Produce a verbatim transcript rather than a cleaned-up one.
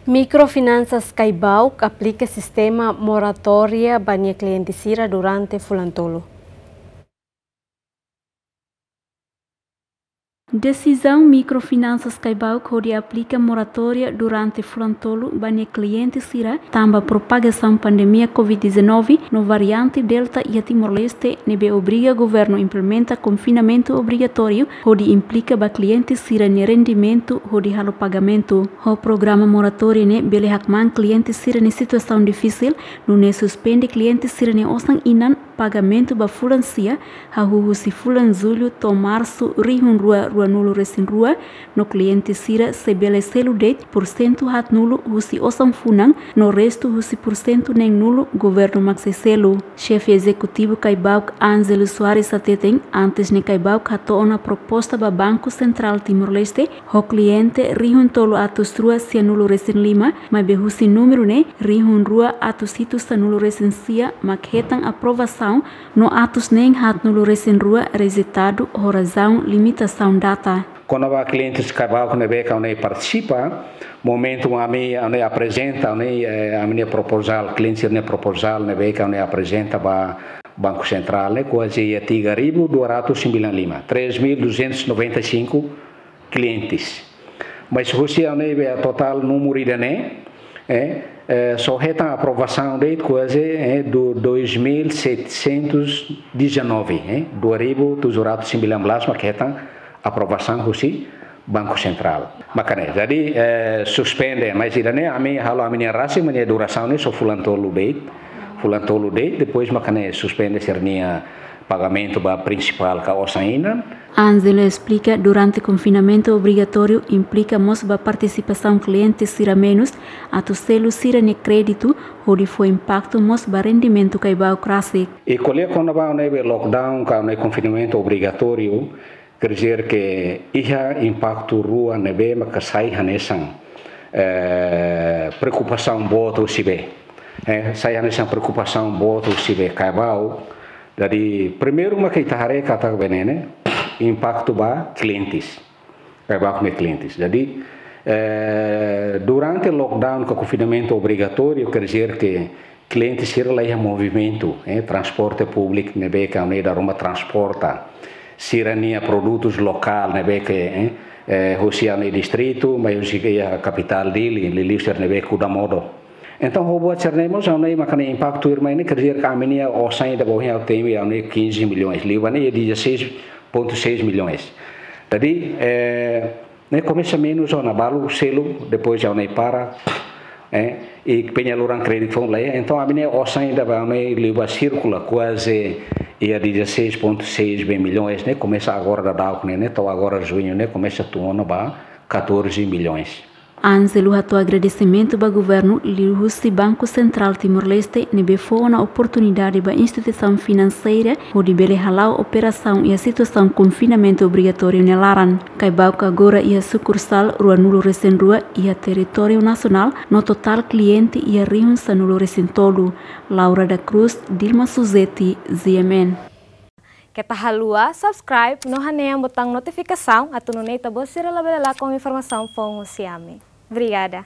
Mikrofinansa Caibauk aplika sistema moratória ba nia kliente sira durante fulan tolu. Desizaun Mikrofinansa Caibauk hodi aplika moratória durante fulan tolu ba nia kliente sira tanba propagasaun pandemia covid dezanove no variante Delta iha Timor-Leste ne'ebé obriga governu implementa konfinamentu obrigatóriu hodi implika ba kliente sira-nia rendimentu hodi halo pagamentu. Ho programa moratória ne'e bele hakmaan kliente sira-nia situasaun difisil, nune'e suspende kliente sira-nia osan-inan pagamentu ba fulan sia, hahú husi fulan Jullu to'o Marsu rihun rua rua-nulu resin rua, no kliente sira sei bele selu de'it pursentu haat-nulu husi osan funan, no restu husi pursentu neen-nulu governu mak sei selu. Xefe Ezekutivu Caibauk Ângelo Soares hateten, antes ne'e Caibauk hato'o ona proposta ba Banku Sentrál Timor-Leste, ho kliente rihun tolu atus rua sia-nulu resin lima, maibé husi númeru ne'e, rihun rua atus hitu sanulu resin sia mak hetan aprovasaun, no atus neen haat-nulu resin rua rejeitadu ho razaun limitasaun data. Kona-ba klientes Caibauk ne'ebé ke ami-nia partisipa, momentu ami, ami aprezenta, ami, eh, ami-nia proposal, kliente sira-nia proposal ne'ebé ke ami aprezenta ba Banku Sentrál ne'e, kuaze iha tiga ribu dua ratus sembilan lima, três mil duzentos noventa e cinco clientes. Mas husi ami-nia totál númeru ida-ne'e, eh, eh, só hetan aprovasaun de'it kuaze, eh, do dois mil setecentos e dezanove, eh, dua ribu tujuh ratus sembilan belas mak hetan aprovasaun husi Banku Sentrál. Maka ne'e, jadi, eh, suspende, mas ida-ne'e ami halo ami-nia rasik, ami-nia durasaun ne'e só fulan tolu de'it, fulan tolu de'it, depois maka ne'e suspende sira-nia pagamentu ba prinsipál ka osan-inan. Ângelo esplika, durante konfinamentu obrigatóriu implika mós ba partisipasaun kliente sira menus atu selu sira-nia kréditu, hodi fó impaktu mós ba rendimentu Caibauk rasik. I ko'alia kona-ba ne'ebé lockdown ka ne'e konfinamentu obrigatóriu, quer dizer que iha impaktu rua ne'ebé maka sai hanesan, eh, preokupasaun boot husi be. Eh, sai hanesan preokupasaun boot husi be Caibauk. Jadi, primeiru maka ita haree katak be ne'e, impaktu ba klientes. Caibauk nia klientes. Jadi, eh, durante lockdown ka konfinamentu obrigatóriu, quer dizer que kliente sira la iha movimentu, eh, transporte públiku ne'ebé ke ami dala ruma transporta sira-nia produtus lokál ne'ebé ke, eh, eh, husi ami-nia distritu, mai husi ke iha kapitál Dili, liuliu sira ne'ebé kuda modo. Entaun, ho buat sira-ne'e mós, ami maka ne'e impaktu irmai ne'e, quer dizer que ami-nia osan ida ba ohin ha'u temi ami-nia quinze milhões, liu ba ne'e dezasseis ponto seis milhões. Jadi, eh, ne'e komesa menus ona, balu selu, depois ami-nia para, eh, i penyaluran kréditu foun la iha. Entaun, ami-nia osan ida ba ami liu ba sirkula kuaze iha dezasseis ponto seis be milhões, ne'e komesa agora daudauk ne'e, ne'e to'o agora Juñu ne'e komesa tun ona ba catorze milhões. Ângelo hato'o agradesimentu ba governu liuhusi Banku Sentrál Timor-Leste ne'ebé fó ona oportunidade ba instituisaun finanseira hodi bele hala'o operasaun iha situasaun konfinamentu obrigatóriu nia laran. Caibauk agora iha sukursál rua-nulu resin rua iha territóriu nasionál no totál kliente iha rihun sanulu resin tolu. Laura da Cruz, Dilma Suzeti, G M N. Keta haluha subscribe no hanehan butaun notifikasaun atu nune'e ita-boot sira labele lakon informasaun foun husi ami. Obrigada.